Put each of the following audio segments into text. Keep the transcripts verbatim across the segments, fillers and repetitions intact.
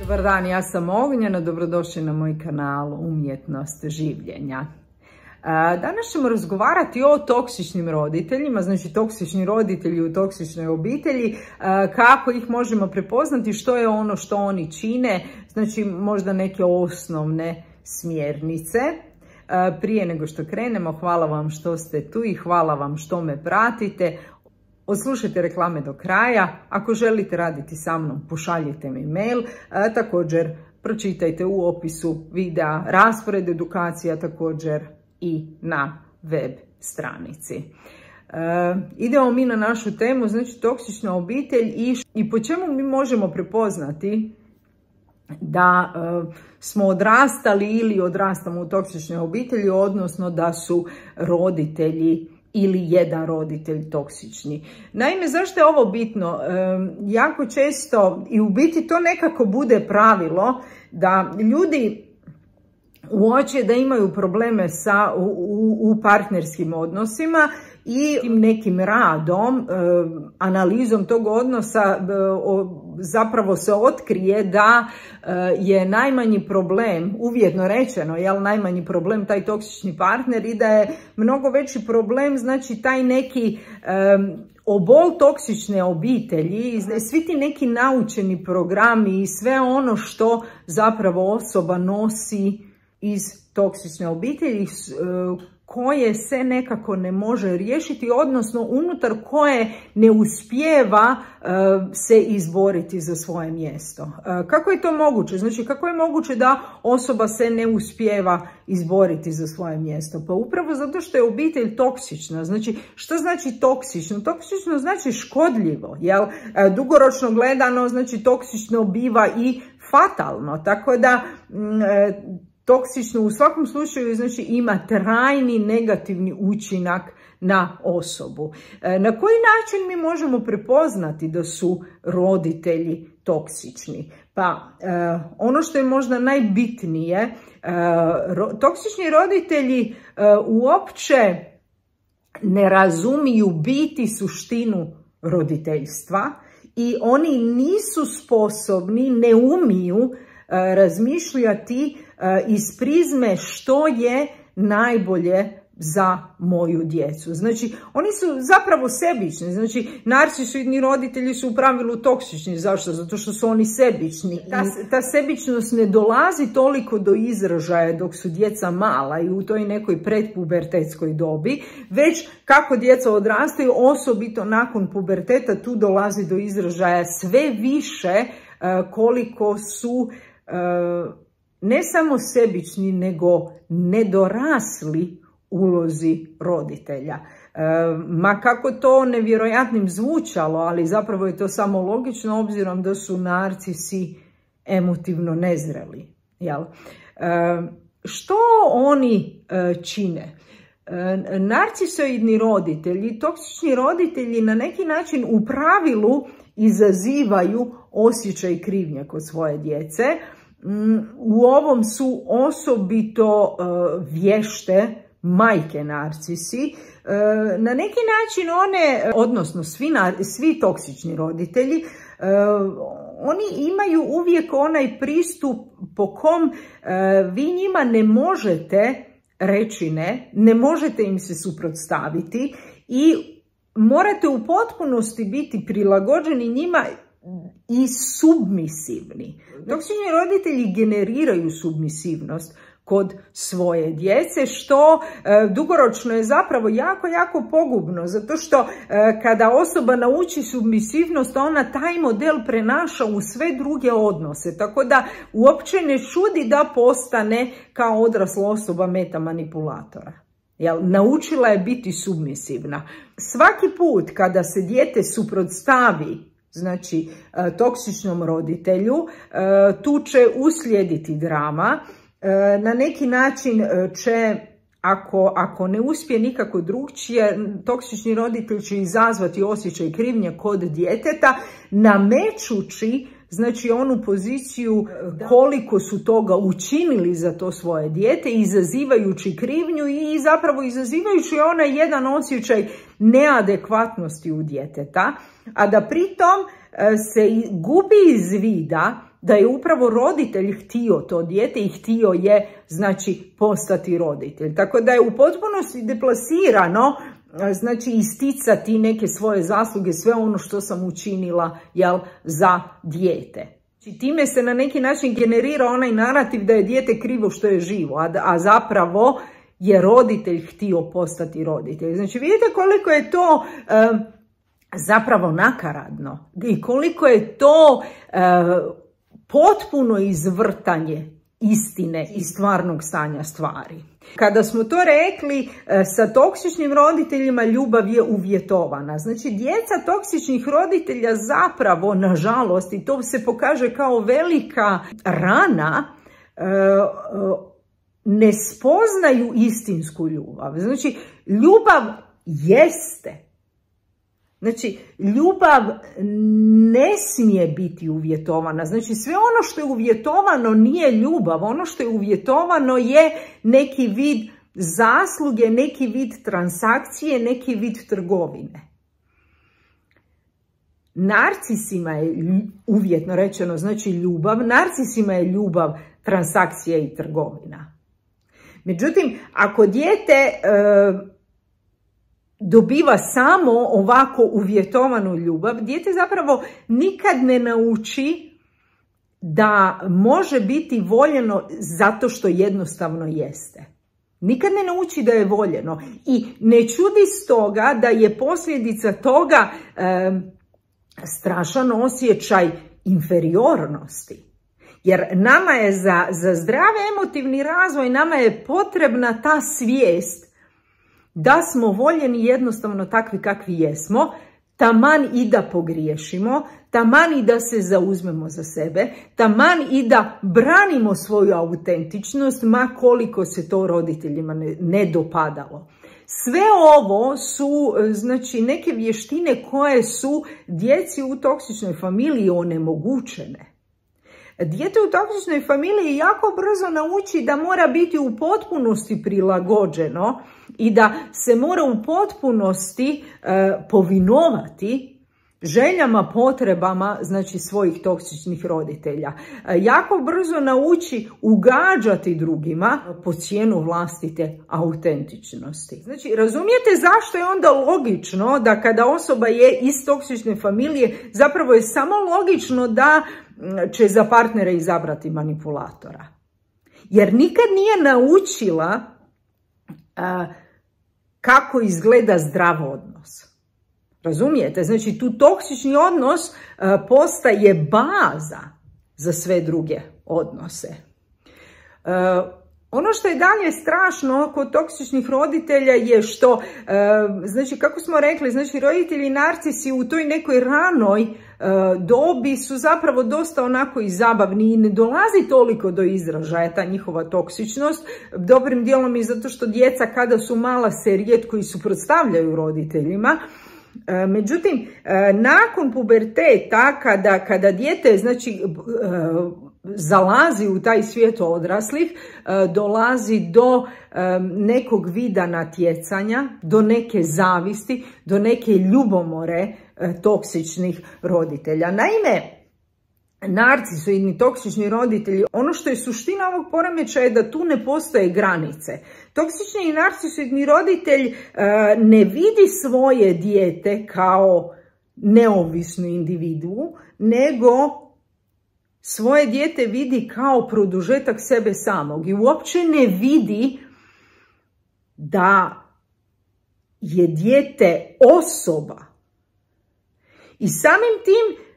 Dobar dan, ja sam Ognjena, dobrodošli na moj kanal Umjetnost življenja. Danas ćemo razgovarati o toksičnim roditeljima, znači toksični roditelji u toksičnoj obitelji, kako ih možemo prepoznati, što je ono što oni čine, znači možda neke osnovne smjernice. Prije nego što krenemo, hvala vam što ste tu i hvala vam što me pratite. Odslušajte reklame do kraja. Ako želite raditi sa mnom, pošaljite mi mail. A, također pročitajte u opisu videa raspored edukacija, također i na web stranici. E, idemo mi na našu temu, znači toksična obitelj i, i po čemu mi možemo prepoznati da e, smo odrastali ili odrastamo u toksičnoj obitelji, odnosno da su roditelji ili jedan roditelj toksični. Naime, zašto je ovo bitno? E, jako često i u biti to nekako bude pravilo da ljudi uoče da imaju probleme sa, u, u partnerskim odnosima i nekim radom, e, analizom tog odnosa e, o, zapravo se otkrije da e, je najmanji problem, uvjetno rečeno, jel, najmanji problem taj toksični partner i da je mnogo veći problem, znači taj neki e, obol toksične obitelji, svi ti neki naučeni programi i sve ono što zapravo osoba nosi iz toksične obitelji koje se nekako ne može riješiti, odnosno unutar koje ne uspijeva se izboriti za svoje mjesto. Kako je to moguće? Znači, kako je moguće da osoba se ne uspijeva izboriti za svoje mjesto? Pa upravo zato što je obitelj toksična. Znači, što znači toksično? Toksično znači škodljivo, jel? Dugoročno gledano, znači toksično biva i fatalno. Tako da toksično u svakom slučaju znači ima trajni negativni učinak na osobu. Na koji način mi možemo prepoznati da su roditelji toksični? Pa ono što je možda najbitnije, toksični roditelji uopće ne razumiju biti suštinu roditeljstva i oni nisu sposobni, ne umiju razmišljati iz prizme što je najbolje za moju djecu. Znači, oni su zapravo sebični. Znači, narcisoidni roditelji su u pravilu toksični. Zašto? Zato što su oni sebični. Ta, ta sebičnost ne dolazi toliko do izražaja dok su djeca mala i u toj nekoj predpubertetskoj dobi, već kako djeca odrastaju, osobito nakon puberteta, tu dolazi do izražaja sve više koliko su ne samo sebični, nego nedorasli ulozi roditelja. E, ma kako to nevjerojatnim zvučalo, ali zapravo je to samo logično obzirom da su narcisi emotivno nezreli. Jel? E, što oni e, čine? E, narcisoidni roditelji, toksični roditelji na neki način u pravilu izazivaju osjećaj krivnje kod svoje djece. U ovom su osobito uh, vješte majke narcisi. Uh, na neki način one, odnosno svi, svi toksični roditelji, uh, oni imaju uvijek onaj pristup po kom uh, vi njima ne možete reći ne, ne možete im se suprotstaviti i morate u potpunosti biti prilagođeni njima i submisivni. Toksični roditelji generiraju submisivnost kod svoje djece, što e, dugoročno je zapravo jako, jako pogubno, zato što e, kada osoba nauči submisivnost, ona taj model prenaša u sve druge odnose, tako da uopće ne čudi da postane kao odrasla osoba meta manipulatora. Jel, naučila je biti submisivna. Svaki put kada se dijete suprotstavi, znači toksičnom roditelju, tu će uslijediti drama. Na neki način će, ako, ako ne uspije nikako drugčije, toksični roditelj će izazvati osjećaj krivnje kod djeteta, namećući znači onu poziciju koliko su toga učinili za to svoje dijete, izazivajući krivnju i zapravo izazivajući onaj jedan osjećaj neadekvatnosti u djeteta, a da pritom se gubi iz vida da je upravo roditelj htio to dijete i htio je, znači, postati roditelj. Tako da je u potpunosti deplasirano, znači, isticati neke svoje zasluge, sve ono što sam učinila, jel, za dijete. Znači, time se na neki način generira onaj narativ da je dijete krivo što je živo, a, a zapravo je roditelj htio postati roditelj. Znači, vidite koliko je to um, zapravo nakaradno i koliko je to um, potpuno izvrtanje istine i stvarnog stanja stvari. Kada smo to rekli, sa toksičnim roditeljima ljubav je uvjetovana. Znači, djeca toksičnih roditelja zapravo, nažalost, i to se pokaže kao velika rana, ne spoznaju istinsku ljubav. Znači, ljubav jeste. Znači, ljubav ne smije biti uvjetovana. Znači, sve ono što je uvjetovano nije ljubav. Ono što je uvjetovano je neki vid zasluge, neki vid transakcije, neki vid trgovine. Narcisima je, uvjetno rečeno, znači ljubav, narcisima je ljubav transakcija i trgovina. Međutim, ako dijete e, dobiva samo ovako uvjetovanu ljubav, dijete zapravo nikad ne nauči da može biti voljeno zato što jednostavno jeste. Nikad ne nauči da je voljeno i ne čudi stoga da je posljedica toga e, strašan osjećaj inferiornosti. Jer nama je za, za zdravi emotivni razvoj, nama je potrebna ta svijest da smo voljeni jednostavno takvi kakvi jesmo, taman i da pogriješimo, taman i da se zauzmemo za sebe, taman i da branimo svoju autentičnost, ma koliko se to roditeljima ne, ne dopadalo. Sve ovo su, znači, neke vještine koje su djeci u toksičnoj familiji onemogućene. Dijete u toksičnoj familiji jako brzo nauči da mora biti u potpunosti prilagođeno i da se mora u potpunosti e, povinovati željama, potrebama, znači, svojih toksičnih roditelja. E, jako brzo nauči ugađati drugima po cijenu vlastite autentičnosti. Znači, razumijete zašto je onda logično da kada osoba je iz toksične familije, zapravo je samo logično da će za partnera izabrati manipulatora. Jer nikad nije naučila a, kako izgleda zdrav odnos. Razumijete? Znači, tu toksični odnos a, postaje baza za sve druge odnose. A, Ono što je dalje strašno kod toksičnih roditelja je što, znači, kako smo rekli, znači, roditelji narcisi u toj nekoj ranoj dobi su zapravo dosta onako i zabavni i ne dolazi toliko do izražaja ta njihova toksičnost. Dobrim dijelom i zato što djeca kada su mala se rijetko i suprotstavljaju roditeljima. Međutim, nakon puberteta, kada, kada dijete, znači, zalazi u taj svijet odraslih, dolazi do nekog vida natjecanja, do neke zavisti, do neke ljubomore toksičnih roditelja. Naime, narcisoidni toksični roditelji, ono što je suština ovog poremećaja je da tu ne postoje granice. Toksični i narcisoidni roditelj ne vidi svoje dijete kao neovisnu individuu, nego svoje dijete vidi kao produžetak sebe samog i uopće ne vidi da je dijete osoba. I samim tim,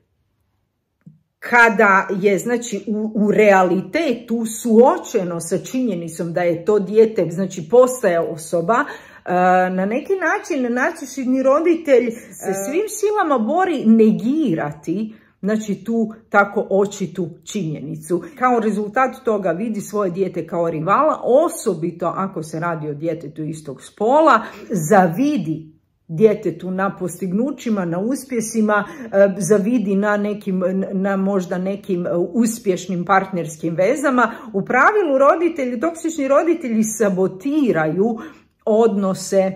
kada je, znači, u, u realitetu suočeno sa činjenicom da je to dijete, znači, postaje osoba, na neki način narcisoidni roditelj se svim silama bori negirati, znači, tu tako očitu činjenicu. Kao rezultat toga vidi svoje dijete kao rivala, osobito ako se radi o djetetu istog spola, zavidi djetetu na postignućima, na uspjesima, zavidi na nekim, na možda nekim uspješnim partnerskim vezama. U pravilu roditelji, toksični roditelji sabotiraju odnose,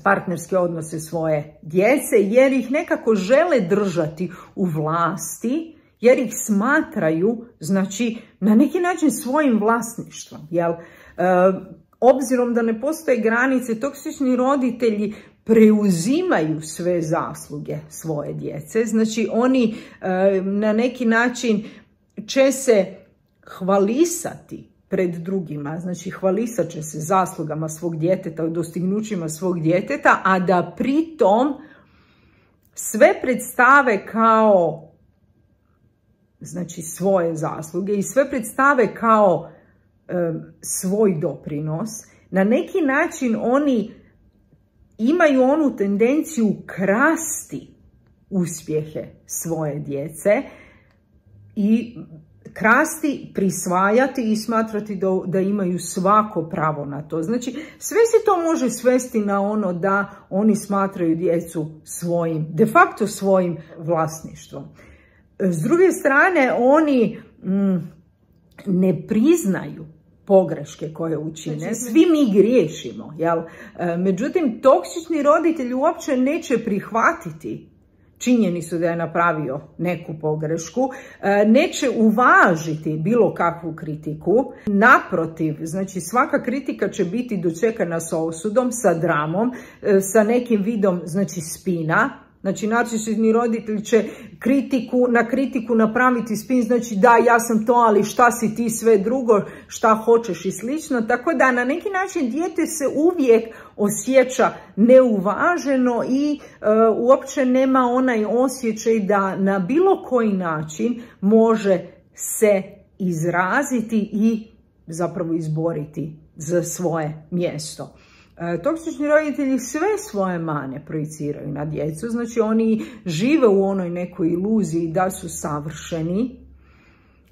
partnerske odnose svoje djece, jer ih nekako žele držati u vlasti jer ih smatraju, znači, na neki način svojim vlasništvom, jel? E, obzirom da ne postoje granice, toksični roditelji preuzimaju sve zasluge svoje djece, znači oni e, na neki način će se hvalisati pred drugima, znači hvalisat će se zaslugama svog djeteta, dostignućima svog djeteta, a da pritom sve predstave kao, znači, svoje zasluge i sve predstave kao e, svoj doprinos. Na neki način oni imaju onu tendenciju krasti uspjehe svoje djece i krasti, prisvajati i smatrati da, da imaju svako pravo na to. Znači, sve se to može svesti na ono da oni smatraju djecu svojim, de facto svojim vlasništvom. S druge strane, oni mm, ne priznaju pogreške koje učine. Svi mi griješimo, jel? Međutim, toksični roditelj uopće neće prihvatiti činjenicu da je napravio neku pogrešku, neće uvažiti bilo kakvu kritiku. Naprotiv, znači svaka kritika će biti dočekana sa osudom, sa dramom, sa nekim vidom, znači, spina. Znači, narcisni roditelj će kritiku, na kritiku napraviti spin, znači da, ja sam to, ali šta si ti sve drugo, šta hoćeš i slično. Tako da na neki način dijete se uvijek osjeća neuvaženo i e, uopće nema onaj osjećaj da na bilo koji način može se izraziti i zapravo izboriti za svoje mjesto. Toksični roditelji sve svoje mane projiciraju na djecu, znači oni žive u onoj nekoj iluziji da su savršeni.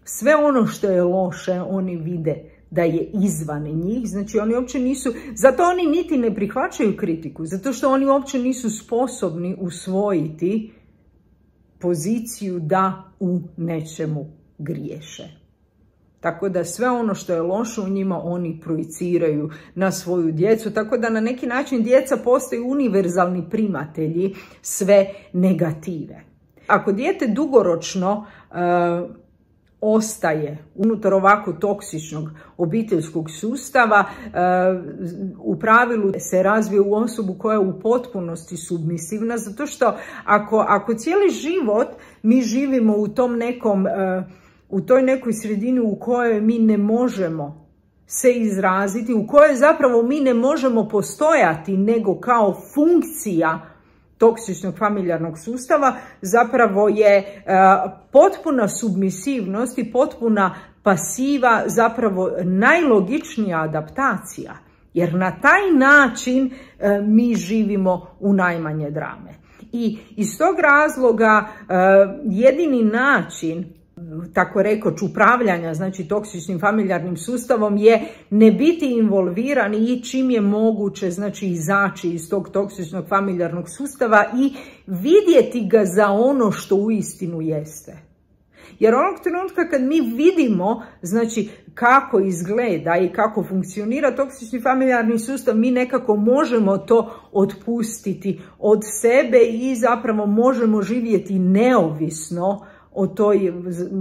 Sve ono što je loše oni vide da je izvan njih, znači oni uopće nisu, zato oni niti ne prihvaćaju kritiku, zato što oni uopće nisu sposobni usvojiti poziciju da u nečemu griješe. Tako da sve ono što je loše u njima oni projiciraju na svoju djecu, tako da na neki način djeca postaju univerzalni primatelji sve negative. Ako dijete dugoročno e, ostaje unutar ovako toksičnog obiteljskog sustava, e, u pravilu se razvije u osobu koja je u potpunosti submisivna, zato što ako, ako cijeli život mi živimo u tom nekom... E, u toj nekoj sredini u kojoj mi ne možemo se izraziti, u kojoj zapravo mi ne možemo postojati nego kao funkcija toksičnog familijarnog sustava, zapravo je uh, potpuna submisivnost i potpuna pasiva zapravo najlogičnija adaptacija, jer na taj način uh, mi živimo u najmanje drame. I iz tog razloga uh, jedini način, tako rekoć, upravljanja, znači toksičnim familijarnim sustavom je ne biti involviran i čim je moguće, znači izaći iz tog toksičnog familijarnog sustava i vidjeti ga za ono što uistinu jeste. Jer onog trenutka kad mi vidimo, znači, kako izgleda i kako funkcionira toksični familijarni sustav, mi nekako možemo to otpustiti od sebe i zapravo možemo živjeti neovisno o toj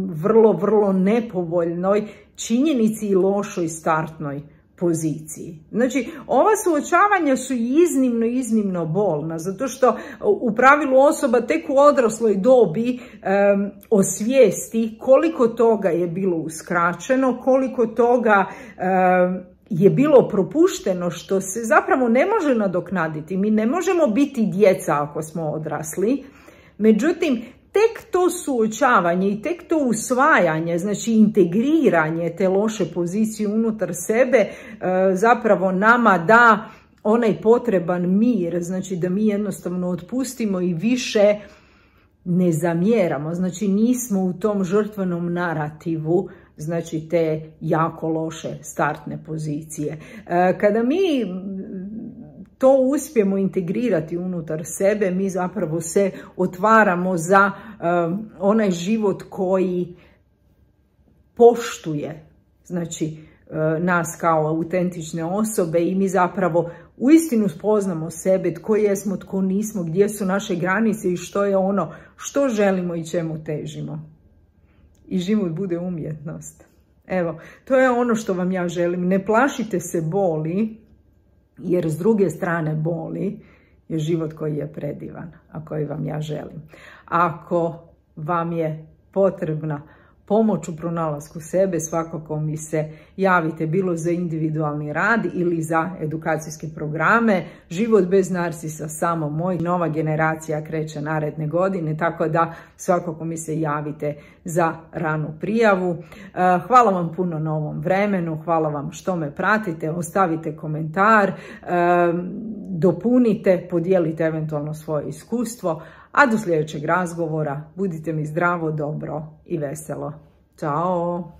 vrlo, vrlo nepovoljnoj činjenici i lošoj startnoj poziciji. Znači, ova suočavanja su iznimno, iznimno bolna, zato što u pravilu osoba tek u odrasloj dobi um, osvijesti koliko toga je bilo uskraćeno, koliko toga um, je bilo propušteno, što se zapravo ne može nadoknaditi. Mi ne možemo biti djeca ako smo odrasli, međutim, tek to suočavanje i tek to usvajanje, znači integriranje te loše pozicije unutar sebe, zapravo nama da onaj potreban mir, znači da mi jednostavno otpustimo i više ne zamjeramo, znači nismo u tom žrtvenom narativu, znači te jako loše startne pozicije. Kada mi to uspijemo integrirati unutar sebe, mi zapravo se otvaramo za um, onaj život koji poštuje, znači, uh, nas kao autentične osobe i mi zapravo uistinu spoznamo sebe, tko jesmo, tko nismo, gdje su naše granice i što je ono što želimo i čemu težimo. i život bude umjetnost. Evo, to je ono što vam ja želim. Ne plašite se boli, jer s druge strane boli je život koji je predivan, a koji vam ja želim. Ako vam je potrebna pomoć u pronalasku sebe, svakako mi se javite, bilo za individualni rad ili za edukacijske programe. Život bez narsisa, samo moj. Nova generacija kreće naredne godine, tako da svakako mi se javite za ranu prijavu. Hvala vam puno na ovom vremenu, hvala vam što me pratite, ostavite komentar, dopunite, podijelite eventualno svoje iskustvo, a do sljedećeg razgovora budite mi zdravo, dobro i veselo. Ćao!